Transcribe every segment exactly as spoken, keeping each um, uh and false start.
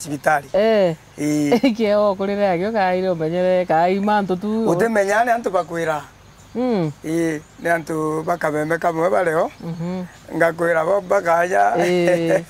cibitari. Eh. Ii. Kieo kurire agio kaire umenyere kai mantu tu. Utimenya ni antu bakwira. Mm. Ii, ni antu ba kabembe kamwe bario. Mhm. Ngakwira bo bakaja. Ii.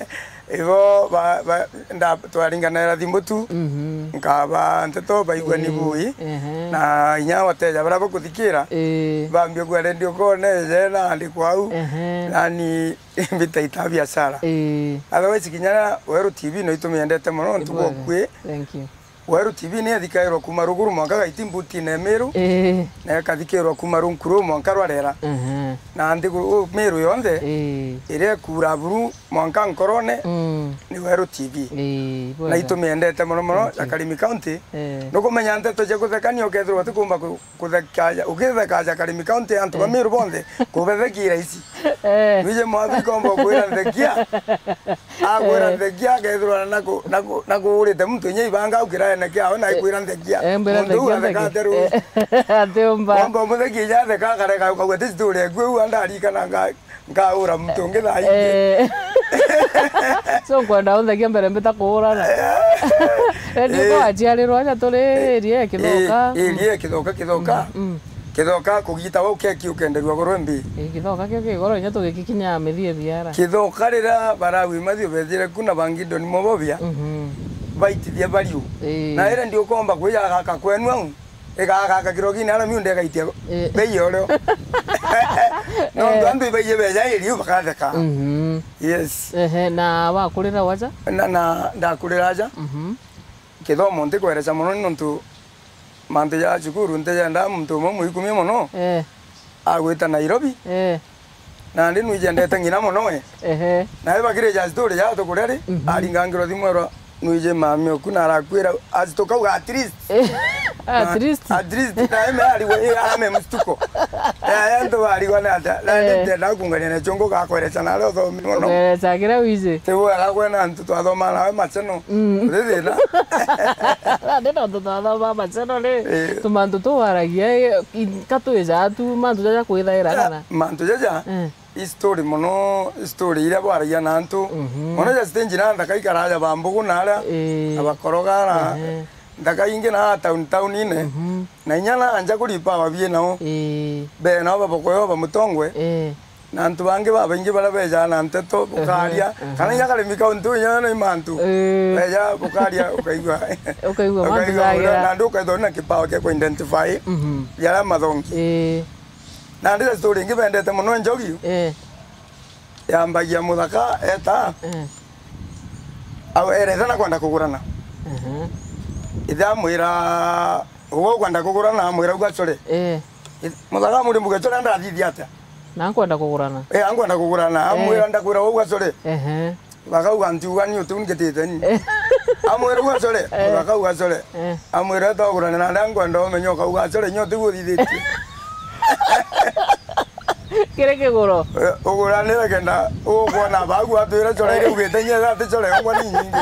Ibo ba, ba, nda, twaringanaira thimu tu. Mhm. Nkaba nteto baigua ni bui. Ehe. Na inya wateja baria bakuthikira. Ii. Bambia kua redio kone je na andikwa au. Ehe. Nani mbita ita biashara. Ii. Otherwise, kinya Weru T V no itumiendete mono, nontu bwa ukui. Thank you. Weru T V ni ethikairwa kuma ruguru mwanka gaiti mbutine Miru, ii, na ekathikirwa kuma runkuru mwanka rwarera. Mhm. Na nthiguru Miru yonthe, ii, iria ikuura buru mwanka nkorone, mm, ni Weru T V. Ii, na bwega. Itumiendete mono mono, thank you, ya Karimi County. Ii. Nukumenya nteto cia kuthekania ukethirwa utikumba ku-, kuthekaja, ukithekaja Karimi County antu ba, eh, Miru bonthe, kubethekira ici. Eh. Nwije mwathi komba kwira nthekia. Akwira, eh, nthekia, akethirwa na ku-, na ku-, na kuurite muntu inya ibanga au kiraene kiawe na, eh, ikwira nthekia. Eh, mbira muntu u nthekia, atheka nthekia, ateru. Eh, atiumba. Wamba umuthekia inya atheka akareka ukauga ti story eku u andarikana nga-, nkaura muntu ungi thaa ingi. Eh. So nkwenda unthekia mbere mbita kuurana. Eh. Redio, eh, kwa aciarirwa aja turi, eh, area ya Kithoka. Eh, area ya Kithoka, Kithoka. Mm, mm. Kithoka kugita wa ukeki ukenderua goro mbi. Ii, Kithoka kio ki goro inya tugikikinya mithie biara. Kithoka riria Barawi Mathi ubethire ku na Bangidoni Mobobia, mhm, baitithia bariu. Ii. Na ira ndiukomba kwija gaka kwenu au, igagaka kirogini ara miunda igaitia, ii, bei orio. Nontu, eh, antu ibaie beja iriu bakatheka. Mhm. Yes. Ehe, na wakurira waja? Na, na ndakurira aja. Mhm. Kithomo ntikwereca mono ni nontu mantu ja cukuru ntijenda muntu umwe mwikumia mono, eh, agwita Nairobi. Eh. Nandi nwijendete ng'ina mono we. Ehe. Nawe bakirija story ya tukuria ri, mhm, aringangirwa thimu erwa nwije mami oku na arakwira, as tukauga at least. Eh, at least. At least, nawe me arigwa, eh, arame mstuko. Eh, antu barigwa na ata, nandi, eh, ntenda kungania na chongo gakwereca nare uthomi mono. Kwereca kiria wije. Ti wega kwena antu twathoma nawe macheno. Mm. Uri thina. Nandi nontu twathoma macheno ri, eh, tumantu tuwaragia, eh, i-, ka twija tu mantu jaja kwithaira, ah, kana? Mantu jaja, eh, i story mono, i story iria bwaragia na antu. Mhm. Mono ja stage na nthaka ikaraja ba mbugu na aria, eh, na bakoroga na, ehe, nthaka ingi na town, town-ine. Mhm. Na inya na nja kuri power bie nao. Eh. Be nao babokoyo bamutongwe. Eh. Na antu bangi babaingi baria bejaa na nteto, bukaria, aha, kana inya Karimi County inya na imantu. Eh. Beja bukaria, ukaigua. Ukaigua mantu ukaigua jagira. Na ndu ukaithwa na kipawa kia ku identify, mhm, jaria mathongi. Eh. Na ndira story ingi bendete mono Njogi. Eh. Yambagia muthaka eta. Eh. Au erete na kwenda kugurana. Mhm. Ithe amwira, "Uga ukwenda kugurana?" Amwira, "Uga core." Eh. Muthaka amwira, "Mbuge core ndathithia atia?" Na nkwenda kugurana. Eh, ankwenda kugurana. Eh. Amwira, "Ndakwira uga core." Ehe. Bakauga, "Ntiuga ni utiu ngitite ni." Eh. Amwira, "Uga core." Eh. Bakauga, "Core." Eh. Amwira, "Eta ugurane na nda nkwenda umenye ukauga core nyo utiu uthithitie." Kiri kiguro. Eh, uguranire kenda ukwona bagu atwire core iria ugite nyie ati core yongwa ni nyingi.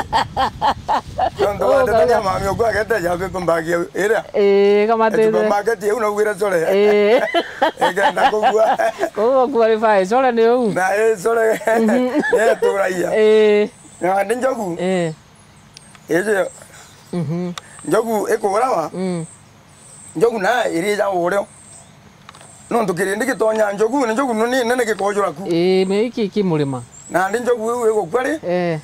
Nontu wa ndeto cia mami uku agete ja paper bag iria. Ii, kamatite. Supermarket iu naugire core. Ii. Igenda kugua. Koguo qualify, core ni uu. Na ii core. Mhm. Ni eturagia. Ii. Na ndi Njogu. Ii. Iji. Mhm. Njogu ikurawa. Mm. Njogu na irijaga urio. Nontu kirindi gitonya njogu, na njogu ni nene gikojura ku. Ii, me iki ki murima. Nandi njogu iu igukua ri? Eh.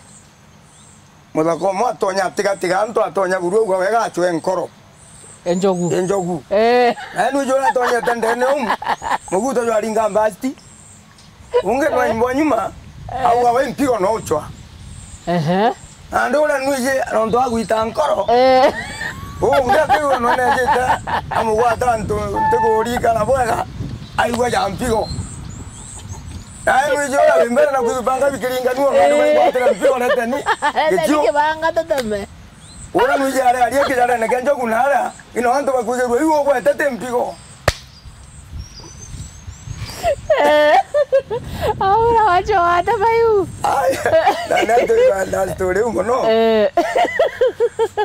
Muthaka umwe atonya atigatiga antu, atonya buru uga wega acwe nkoro. E njogu. E njogu. Eh. Na ni ujura atonyete ndene umu. Muguto jwaringa mbasti. Ungi nwa imbo nyuma, eh, auga we mpigo no uchwa. Ehe. Na ndu uria nwiji nontu agwita nkoro. Eh. Ungi akiigua nwenejite, amugwata ntu ntigurikana bwega, aigua ja mpigo. Nae nwiji uria wi mbere na kwithubanga bikiringanua, nontu, eh, baigwatire mpigo reteni. Reteni gitio. Kibanga teteme. Uria nwiji aria aria kijarene kia njogu na aria, ino antu bakwigirua iu ugwetete mpigo. Eh. Aura wacho wata bayu. Ai, na, na, na, na story iu mono. Eh.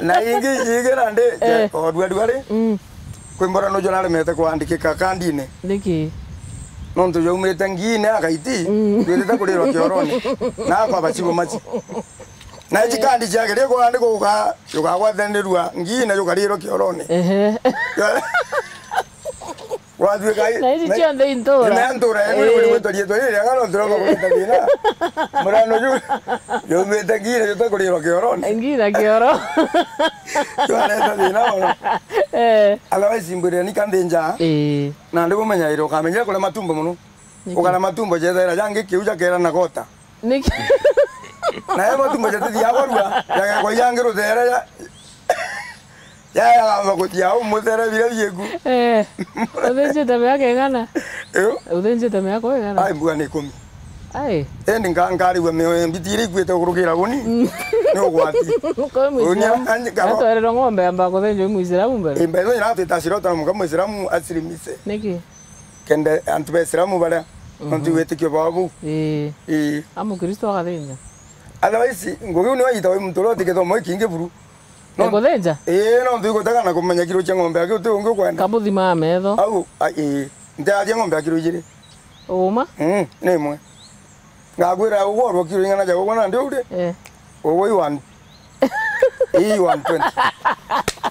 Na ingi, ingi nandi, eh, oduaduari. Mm. Kwi mbora nujo naremete kwandikika kandine. Niki? Nontu jaumite ngiine akaiti, mm, twirite kurirwa kioroni. Na akwa bachibo machi. Na ici kandi ciageria kwandikwa uka-, ukagwatanirua ngii na jukarirwa kiorone. Ehe. Watwika i-, Na ici na-, cionthe i ntura. Na ntura yetu, eh, ni gwitwa rietwa riri riega no turomba kureta thina. Murano ju, yumite ngii na jutakurirwa kiorone. Ngii na kioro. Twareta thina mono. Eh. Otherwise, mbwirire ni kanthinja. Eh. Na ndi bumenyaire ukamenyera kuria matumbo mono. Niki? Ukara matumbo jethaira jangi kiu jakera na gota. Niki? Na yo matumbo jatithia kwarua, jagekwa jangi ruthere ya, ya, ya, makutia au muthere bira bieku. Eh. Uthinjite miaka igana? Iyo. Uthinjite miaka igana? Ai, mbua ni ikumi. Ai. Endi nka-, nkarigua mioyo mbiti iria ikuite kurukira uni. Mm. Ni ugwati. Kwa Uni Muislamu. Anji karo. Atwarerwa ng'ombe yamba kuthinjwa i Muislamu mbere. Imba izo ina twita sirota na muka Muislamu asilimise. Niki? Kende antu ba Islamu baria, nontu, mhm, witikio bwao buu. Ii. Ii. A Mukristo agathinja. Otherwise, ngugi iu niyo yitagwa i muntu uria uti githomo gikingi buru. No- Ekuthinja? Ii, nontu igutega na kumenya kiro cia ng'ombe aki uti ungi ukwenda. Kamuthima metho. Au, a, ii. Nteathia ng'ombe ya kiro ijiri. Uma? Mm, ni imwe. Ngakwira ugwe urwa kiro ing'ana ja ugwe nandi uri? Eh. Ugwe i one, i one twenty.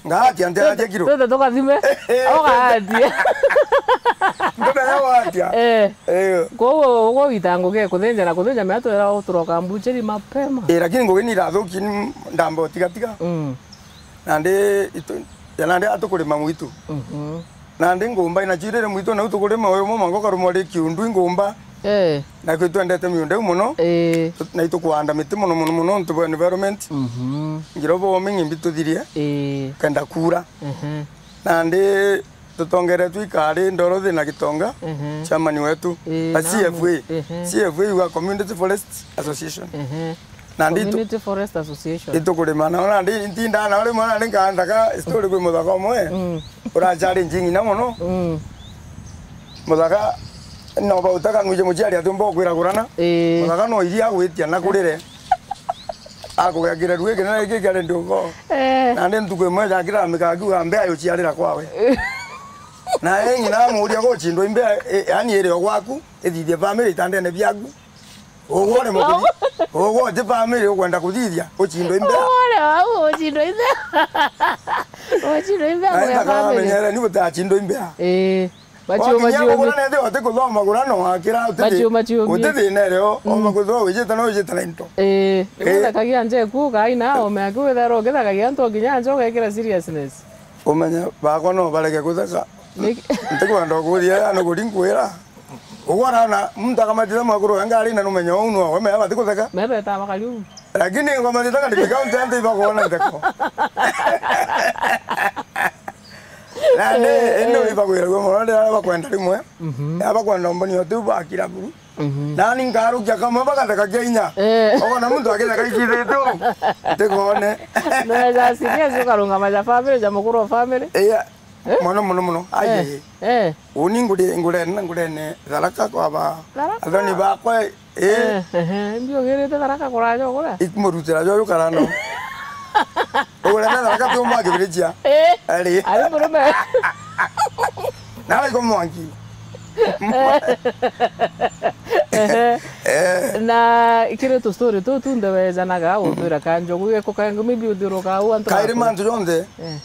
Ngatia nteatia kiro. Twete tukathime. Eh, eh. Ugatia. Ntumenya gwatia. Eh. Eh. Koguo ugwe wita ngugi ya kuthinja na kuthinja mea twera uturoka mbucheri mapema. Eh, lakini ngugi ni irathuki ni ndamba utigatiga. Mm. Nandi itu-, ya nandi atukurima mwitu. Mhm. Nandi ngumba inacio irire mwitu, nau tukurima uyu mwanka ukarumwa ri kiundu ingumba. Eh. Na kwi twendete miunda iu mono. Eh. Tu-, na itukuanda miti mono, mono, mono, nontu bwa environment. Mhm. Ngira bomi ng'imbi tuthirie. Eh. Kenda kuura. Mhm. Nandi tutongeretwe ikari Dorothy na Gitonga, mhm, chairman wetu. Eh, na namu. C F A. Mhm. C F A iuga Community Forest Association. Mhm. Nandi itu-, Community Forest Association. Itukurima nao, nandi ntindaa nao rimwe, nandi nkaandaga story kwi muthaka umwe, mm, urachallenge ng'ina mono. Mm. Muthaka no bautaka nwije muciari atiumba ukwiragurana. Ii. Muthaka no iria agwitia na kurire. Akugekire ruo kinene giki kia redio ngo. Eh. Nandi ntuku imwe jakira mikakiuga mbea yuciarira kwawe. Na ng'ina amuuria gucindwa imbea, i-, yani iri o gwaku, ithithie family itandene biaku. Ugwe uremwe kuthi-, ugwe uti family ukwenda kuthithia, ucindwe imbea. Ugwe uremwe au ucindwe imbea. Ucindwe imbea. Na ithaka family. Wamenyere ni gutacindwa imbea. Ii. Machiu, wakinya machiu. Kugura nethi uti kuthoma gura no wakira uti thi-, machiu, machiu, uti thina irio, mm, oma kwithirwa wijite no wijite na into. Ii. Ii. Ithakagia nje ku, kai na ome aku withera ukithakagia antu kinya nje ugekira seriousness. Umenye bakwa no barege kutheka. Niki? Ntikwenda kuthia ya no kuri nkwira. Ugwe araona muntu akamatitha mwakuru wa ngari na numenye uu nwawe, mea bati kutheka. Mebe ta bakari uu. Lakini ngoma thitaka ni kaunti antu ibakuona ntheko. Na ni, eh, ino eh, ibakwiragua mono riria bakwenda rimwe. Mhm. Ya bakwenda umboni o tiu bakira buru. Mhm. Nani nkarukia kamwe bagatheka kia inya. Eh. Ugona muntu agitheka icithitu. Ntikone. Neza serious ukarungama ja family, ja mukuru wa family. Iya. Eh? Mono, mono, mono. Ai, eh, ai, ai. Eh. Uni nguri, ngurene, ngurene Tharaka kwa ba. Tharaka? Athoni bakwa, eh. Eh, ehe, mbiugirite Tharaka kuraja uguria? Ikumurutira jojo karano. Ugurene Tharaka tu mwa kibirichia. Eh. Ari. Ari murume. Na ari kumwangi. Ehe. Eh. Na kiri tu story tu, tu ndewejanaga, utwira kanjo, gwiko kangu, maybe uthiuruka au antu. Kairi baku. Mantu jonthe. Eh.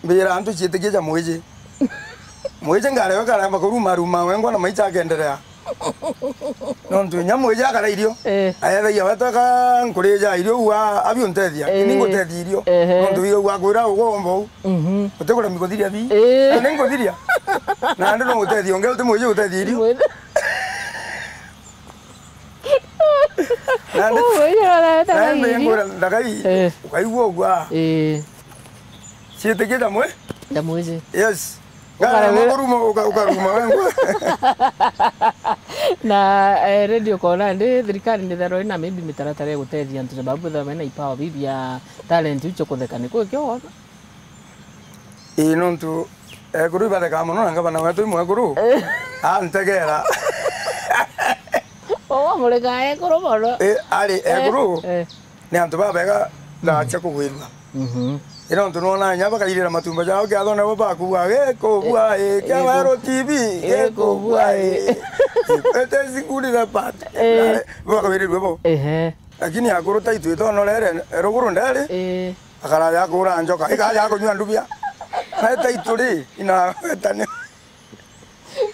Mbira antu ciitikia ja mwiji. Mwiji ngareo karamba kuruma ruma wengwa na maicha akenderea. Nontu inya mwiji akara irio. Eh. Ayethagia wetaka nkurija irio ua abi untethia. Eh. Ini ngutethia irio. Ehe. Nontu wiga ua kwira ugomba u. Mhm. Uti kuremi kuthiria bi. Eh. Na ni nguthiria. Na andu no gutethia ungi uti mwiji gutethia irio. Mwiji. Nandi, oh, iyo areta nandi kairi. Ngwira ndagai, eh, ukaigua ugwa. Eh. Ciitikia jamwe? Jamwiji. Yes. Ukara- ngara kuruma, uka-, ukaruma wengwa. Na, eh, radio kona ndi thirikari ni thero ina maybe mitaratara ya gutethia antu sababu bethwa mena ipawa bibi ya talent icio kutheka ni kwi kio wona? Ii, nontu ekuru ibathekaa mono na ngavana wetu imwekuru. Eh. Antegera. Owa murega ekuru mono. Ii, ari, eh, ekuru, eh, ni antu babega na cia kugwirua. Mhm. Ii, nontu nona inya bakairira matumba jao kiathone bo bakugua, "Gikubua, ii, kia Weru T V, gikubua, ii." Ete sikuri the part. Eh. Bakawirirua bo. Ehe. Lakini akuru title itonorere ruguru nderi, Ii. Akaraja akura njoka, ikaja kunyua ndubia. Na title ri, inawetania.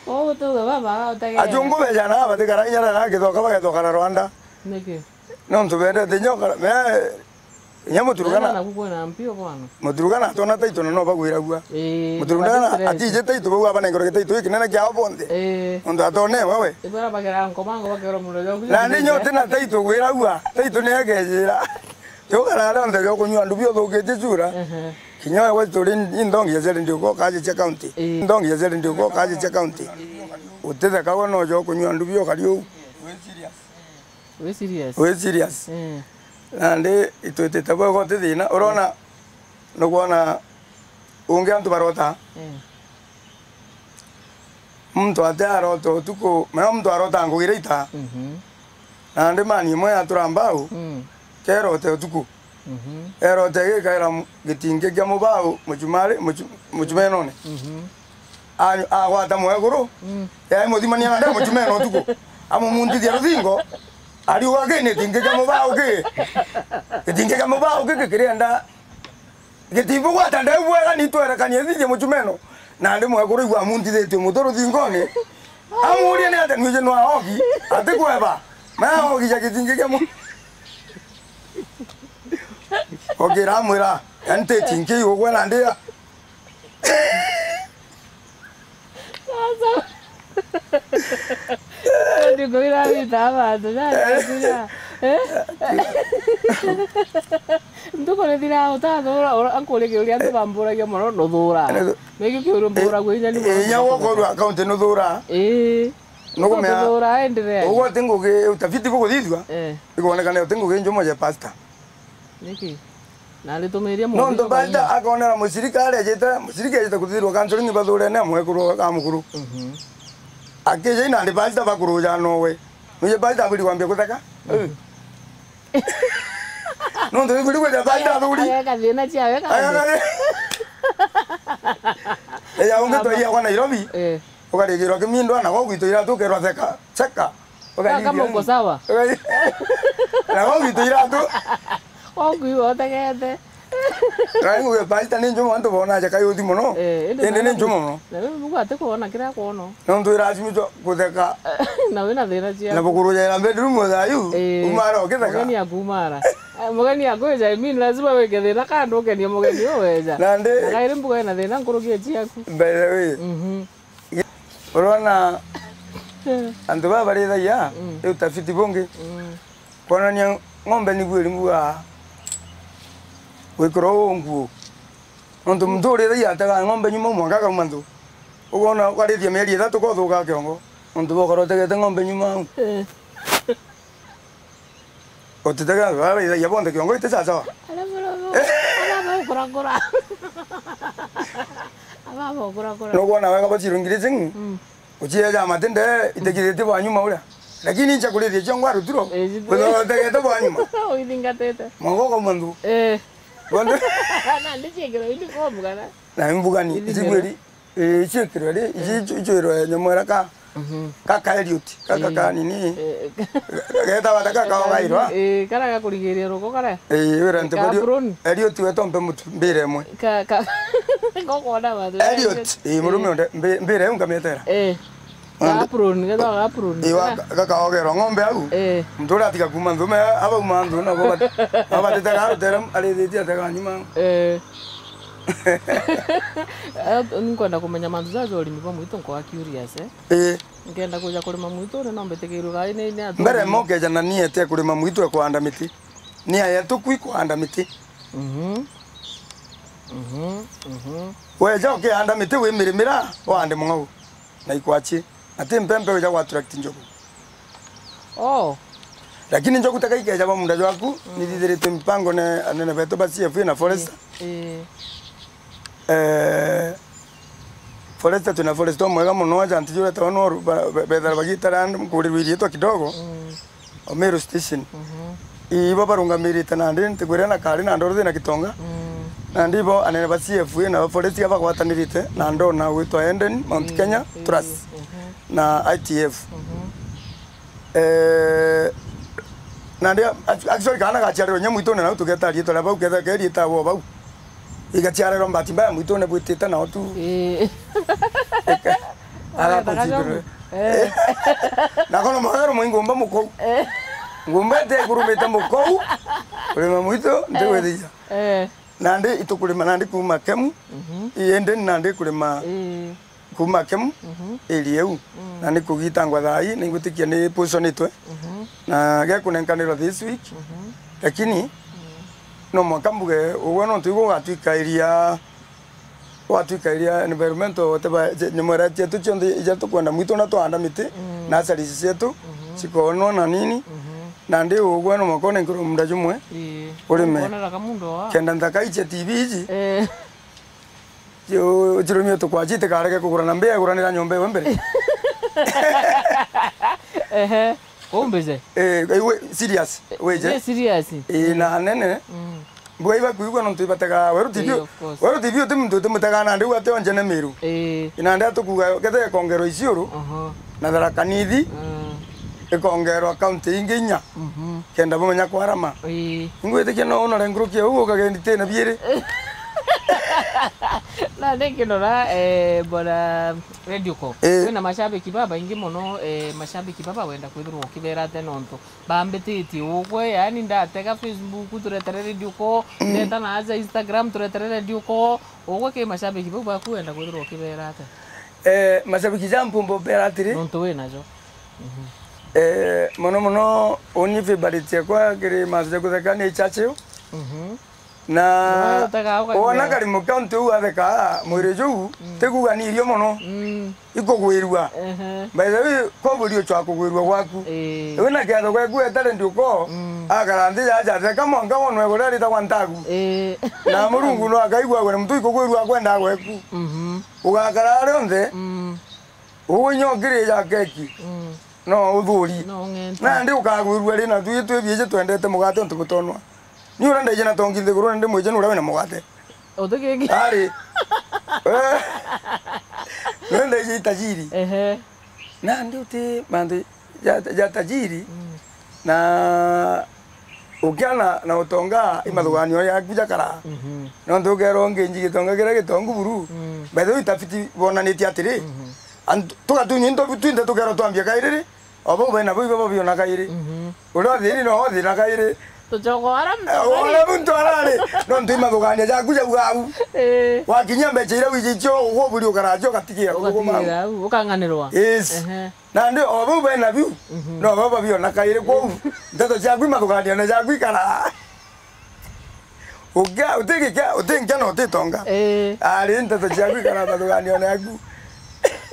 Kwou gutuga baba, utagera. Ajungu bejana batikara inya rara kithoka bagethoka na Rwanda. Niki? Nontu bendete nyoka, me, inya Muturugana. Naku kwina mpio bwana. Muturugana atona title na no bagwiragua. Ii, Muturugana batitire. Atije title bau abanengere title ikinene kiao bonthe. Ii. Nontu atone wewe. Ibara bagera nkomango bakero muno joku. Na ndi nyote na title gwiragua. Title ni egejira. Jogara rionthe riokunyua ndubi uthukitie chura. Ehe. Kinya wewe turi indongi ya zeri ndio kwa kaje cha county. Ii. Indongi ya zeri ndio kwa kaje cha county. Utitheka we no jo kunyua ndubi ukari uu. Wi serious? Wi serious? Wi serious? Eh. Nandi itwitite bwega uti thina. Urona, nukwona ungi antu barota. Eh. Muntu ati arota utuku, mea muntu arota ngugi ira ita. Mhm. Nandi mani imwe yatura mbau, Mm. kerote utuku. Mhm. Erote gikaira mu-, gitingi kia mubau muchumari, muchu-, muchumenone. Mhm. Anyu-, agwata mwekuru, Mm. yai muthimania na nde muchumeno utuku. Amumuntithia ruthingo, ariuga ki ni gitingi kia mubau ki. Gitingi kia mubau ki kikirienda. Gitibugwata ndeu bwega ni twerekanie thithie muchumeno. Nandi mwekuru igua amuntithitie mutu ruthingone. Amuuria ni atia nwiji nwa ogi, atikweba. Mea ogi ja gitingi kia mu-, Okira amwira, "Yani ti chinki ugwe na ndia." Sasa. Ndiko ira wita abantu, na ndira. Eh? Nduko ni thira utathura, ura-, ankurikia uria antu bamburagia mono, nuthura. Nigio kiuru mburagwo inya ni. Eh, inya wokorwa account nuthura. Eh. Nukumea. Nuthura, endelea. Uguo ti ngugi utafiti bukuthithua. Eh. Ikonekana uti ngugi njumo ja pastor. Niki? Na aritumiria. Nontu pastor akonera mucirika aria ejite, mucirika ejite kuthithirwa counseling bathurene mwekuru ka mukuru. Mhm. Akija ina ndi pastor bakuruja nowe. Nuje pastor abiri kwambia kutheka. Mhm. Nontu bibiri gweja pastor athuri. Ageka thina ciawe ka. Ageka thi-, eya ungi twaia kwa Nairobi. Eh. Ukarigirwa kimindo na gogwitwa iratu ukerwa theka. Cheka. Kaka uko sawa? Na gogwitwa iratu. Oku iwe utegete. Kai nguge pastor ni njumo antu bona aja kai uthi muno. Eh, indi ni njumo muno. Na wewe Mungu atikwona kira kwona. Nontu iracimithwa kutheka. Na wina thina cia. Na bukuru jaira bedroom thayu. Eh, umara ukitheka. Mugeni akumara. Eh, mugeni akwija, I mean, lazima wike thina kando ukenie mugeni uweja. Nandi. Na kairi mbuga ina thina nkuruki ciaku. By the way. Mhm. Urona antu baba barithagia, mm, ni utafiti bungi. Mm. Kwonania ng'ombe ni bwiri mbuga gwikirwa uu nguo. Nontu muntu urithagia atega ng'ombe nyuma mwanka akauma nthu. Ukoona ukarithia mieri ithatu kothuka kiongo. Nontu bokora utegete ng'ombe nyuma au. Eh. Utitega, baraithagia bonthe kiongo iti sawasawa. Ara baba, ara baba ukurakura. Ara baba ukurakura. Nukwona wega bacirungiriting, mm, ucieja matinde itekithite bwa nyuma uria. Lakini incha kurithia ciongo arutiro. Eh, utegete bwa nyuma. Uithingatite. Mwango kwa mwandu. Eh. Bonthe. Na ndichikiro ini kwa mugana. Na mbugani, ithimiro. Icigwiri. Ii, iciikirwe ri, ici icu-, icuirwe nyamwera ka, mhm, ka, ka Elliot, ka, ka, ii, kanini. Eh, getawa ta ka, ka, kaogairwa. Ii, kara gakurigiria ruko kara. Ii, wira nti ka Elliot, apron. Elliot we tompe mutu, mbira imwe. Ka, ka, gokwona watu. Elliot, ii, murume onde, mbi-, mbira iu ngamietera. Eh. Ka apron, getawa ka apron. Ii, wa, kara. Ga-, gakaogerwa ng'ombe au. Eh. Muntu uria atiga kuma nthume, abauma nthu, nabo bat-, abatete garutere, arithitie atega nyuma. Eh. Eh, nkwenda kumenya mantu jaja urimi bwa mwitu, nkwa curious, eh? Ii. Nkenda kuja kurima mwitu, ni no mbitikirwe gai ni, ni atu. Mbere mokeja na niete kurima mwitu e kuanda miti. Ni ayetu kwi kuanda miti. Mhm. Mhm. Mhm. Weja ukianda miti wimirimira, wande mung'au. Na ikwachi. Na ti mpempe wija gwa attract njogu. Oh. Lakini njogu taka ikeja ba munda jwaku, mm, nithithiritwe mipango ne anene betu ba C F A na forest. Eh, eh. Eh, forest, twina forest omwega muno, ajanti jure tawa no ba-, be-, bethera bagitara nkurirwe iriitwa kidogo. Mm. O Meru Station. Mhm. Ibo barungamirite nandi ntikwira na kari na ndoro thina Kitonga. Mm. Nandi ibo anene ba C F A na ba forest bagwatanirite na ndona gwitwa Eden, Mount Kenya, mm, Trust, mhm, na I T F. Mhm. Eh, Nandi, ac-, actually, kaana gaciarirwe nya mwitune, nau tugeta riitwa ria bau, ketha ke riitagwo bau. Igaciarirwa bahati mbaya mwitune bwitite nao tu. Ii. Agakucindire. Eh. Nako no mawero mwi ngumba mukou. Eh. Ngumba ite ikurumite mukou. Kurima mwitu, ntigwithiria. Eh. Nandi itukurima nandi kuuma Kemu. Mhm. Ii, indi nandi kurima Ii. kuuma Kemu, Mhm. area iu. Mm. Na ni kugitangwa thaa ii, ningwitikia ni pushonitwe. Mhm. Na gekunenkanirwa this week. Mhm. Lakini, Mm. no mwanka mbuge, ugwe nontu igwe ugatwikairia, ugatwikairia environmental, whatever, nyamwera cietu cionthe iria tukwenda mwitu na twahanda miti, Mm. nurseries cietu, Mhm. cikonwa na nini. Mhm. Nandi ugwe no mwanka unenkerwe munda jumwe, Ii. urime. Ukonera kamundo wa. Kenda nthaka icia T V iji. Eh. Cio-, cirumie tukwaci itikarege kugura na mbia iguranira nyomba iwe mbere. Ehe. Uu mbice? Eh, iwe serious, wije? Ni serious. Eh, na nene. Mm. Mbuga ibakuigua nontu ibatega Weru T V. Eh, of course. Weru T V uti muntu utimutega nandi uu ati onjene Miru. Eh. Nandi atukuga kethe ikongerwa Isiuru, Aha. na Tharaka Nithi, Mm. ikongerwa kaunti ingi inya. Mhm. Kenda bumenya kwarama. Ii. Ingwitikia no unore nkuruki ya uu ukagendi tena biiri. Na ni kinora, eh, bwana Radio Call. Eh. Kwina mashabiki babaingi mono, eh, mashabiki baba wenda kwithirwa ukibera ate nontu bambititie ugwe, yani ndatega Facebook turetere Radio Call, Mm. ndeta na aja Instagram turetere Radio Call, ugwe ki mashabiki bau baku wenda kwithirwa ukibera ate? Eh, mashabiki ja mpumba ubera atiri? Nontu wina jo. Mhm. Eh, mono mono, uni favorite yakwa kiri mantu ja kutheka ni Churchill. Mhm. Na Wona utega ukagia. wona karimu kaunti uu atheka, mwiri juu, Mm. tikuga ni irio mono. Mm. Ikugwirua. Ehe. By the way, koburi uchwa kugwirua gwaku. Ii. Iwe na kiatho gwaku etare ndiuko, Mm. akara nthi jaja atheka mwanka wonwe guria ritagwa ntagu. Ii. Na Murungu no akaigua gwene muntu ikugwirua akwenda gweku. Mhm. Ugakara aria onthe, Mm. Ugwe inya ukirija keki, Mm. no uthuri. No ung'enta. Nandi ukagwirua ri, na twi twi biiji twendete mugate untu butonwa. Ni uria ndaije na tongi nthiguru, na ndi mwiji ni uria wina mugate. Uti kingi. Ari. Eh. Ni uria ndaije itajiri. Ehe. Nandi uti mantu ja, ja tajiri. Mm. Na ukiana na utonga, Mm. imathuganio yaku jakara. Mhm. Nontu ukerwa ungi nji gitonga kiria gitongu buru. Mm. By the way, itafiti bonanitie atiri, Mhm. Antu, tugatunywa into twinthe tukerwa twambia kairi ri, o bau bena bau ibo babiona kairi. Mhm. Uria uthiri no uthira kairi. Tucoka wara muntu Eh, arari. Wara muntu arari. Nontu imathugania jaku jauga au. Eh. Wakinyia mbeca iria wiji icio, uguburi ukaracia ugatigira kuthuguma au. Ugatigira au, ukang'anirwa. Yes. Ehe. Nandi o bau bena biu, Mhm. no bo babiona kairi kwou. Ndeto ciaku imathugania na jaku ikara. Ukia-, utigikia, utinkia na utitonga. Eh. Ari nteto ciaku ikara mathuganio naku.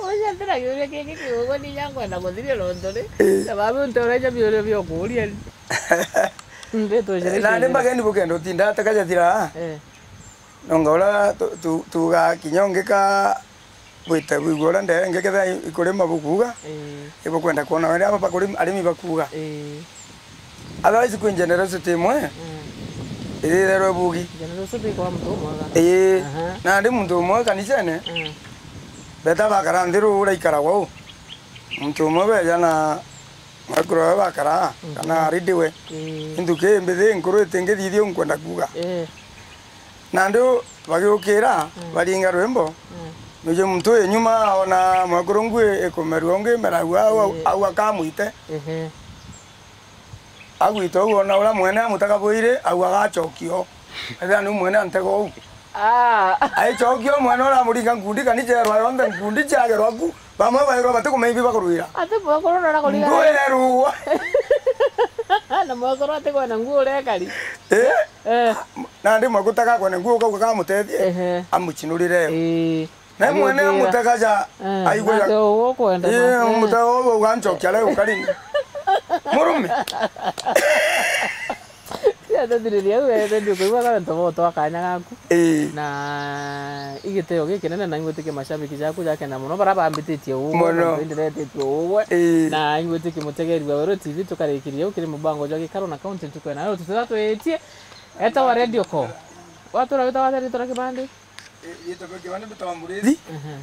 Uria ndiragiuria kingi kiugo ni ya ngwenda kuthiria nontu ri. Eh. Na babu ntoreja biuria biokuria ri. Ndeto ciria Na ni ciuria. Mageni bukenda utinda ataka jathira. Eh. Nonga uria tu-, tu-, tuga kinya ungika Bwite bwigua uria ndenge ketha i-, ikurima bukuuga, Ii. ibukwenda kwona uria aba bakuri-, arimi bakuuga. Ii. Otherwise kwi generosity imwe, Mm. iritherwe bugi. Generosity kwa muntu umwe ga. Ii. Aha. Nandi muntu umwe kanisene, Mm. beta bakara nthi ruu uraikaragwa uu. Muntu umwe beja na mwekuru we bakara, Mhm. kana aridiwe. Ii. Inthuki mbithi nkuru itingithithia nkwenda kuuga. Ii. Nandi bagiukira, Mm. baringa rwimbo, Mm. nuje muntu uyu nyuma aona mwekuru ngui ikumerua ungi meragua au, au, Ii. au akamwite. Ehe. Agwita au ona uria mwene amutega bwiri, au agacokio. Ethira niu mwene antega uu. Ah. Aicokia umwe na uramuringa nkundi, kanicherwa yonthe nkundi ciagerwa ku, bamwe bairwa batikumenya ibi bakurwira. Ati mwekuru nora kuriga. Ndwerwa. Na mwekuru atikwona nguo urekari. Eh? Eh. Nandi mwekuru tagakwona nguo ukauga kamutethie, Ehe. amucinurire yo. Ii. Na mwene Agwikira. amutega ja, Eh, aigua ya. nake uguo ukwenda Eh, make. amutega uguo ugancokia reo karini. Murume. Cia ndathiriria au, eh, redio kuigua kana ntobo twa kanya gaku. Ii. Na igiteo gikinene na ingwitikia mashabiki jaku jakenda muno, bara bambititie uu, Muno. na ndindiretetie uu. Ii. Na ingwitikia mutegeri wa Weru T V tukarikiria ukiri mubango jwa gikaro na kaunti ntuku ya nayo tutira twitie. Eta wa radio ko. Watura wita wa radio tura kibandi. Ii, ito kwa kibandi bita wa Murithi. Mhm.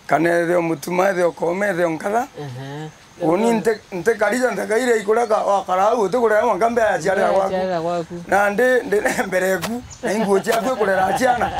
Kana etheo Mutuma, etheo Koome, etheo Nkatha. Mhm. Uni nti, nti karija ntakaire ikureka, wakara au, utikurera mwanka mbea ya ciarira gwaku. Ciarira gwaku. Na ndi, ndi mbere eku, na inguo ciaku ikurera ciana.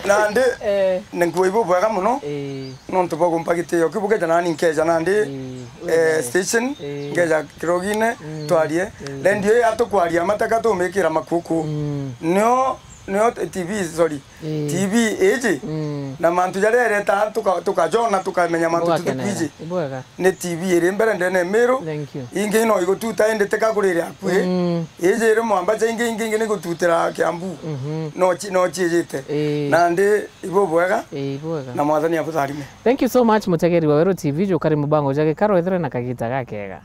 Na ndi, Eh. ni nguo ibu bwega muno. Eh. Nontu bwa gumpa gitio, kiu bukeja nani nkeja nandi, Eh, eh, wega. station, Eh. nkeja kirogine, Mm. twarie. Eh. Redio ii atukwaria mataka tumikira makuku. Mm. Nio, nio T V, sorry. Eh. T V iji. Mm. Na mantu jaria ireta tuka-, tukajona, tukamenya mantu Bwakena. tutukwiji. Bwega. Ni T V iri mbere ndene Miru. Thank you. Ingi no igututa indi tika kurire akui. Mm. Iji iri mwamba cha ingi, ingi, ingi ni gututira Kiambu. Mhm. No chi-, no chiijite. Eh. Nandi Ibu bwega. Ii, bwega. Na Mwathani abutharime. Thank you so much, mutegeri wa Weru T V, jukari mubango ja gikaro, ethire na kagita gakega.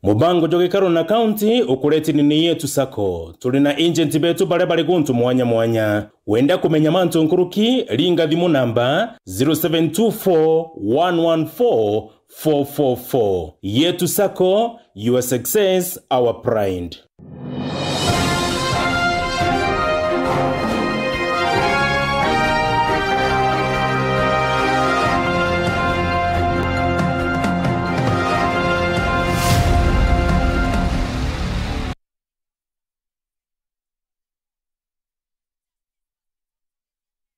Mubango jwa gikaro na kaunti ukuretini ni Yetu Sacco. Turi na agent betu baria bari guntu mwanya mwanya. Wenda kumenya mantu nkuruki, ringa thimu namba zero seven two four one one four four four four. Yetu Sacco, your success, our pride.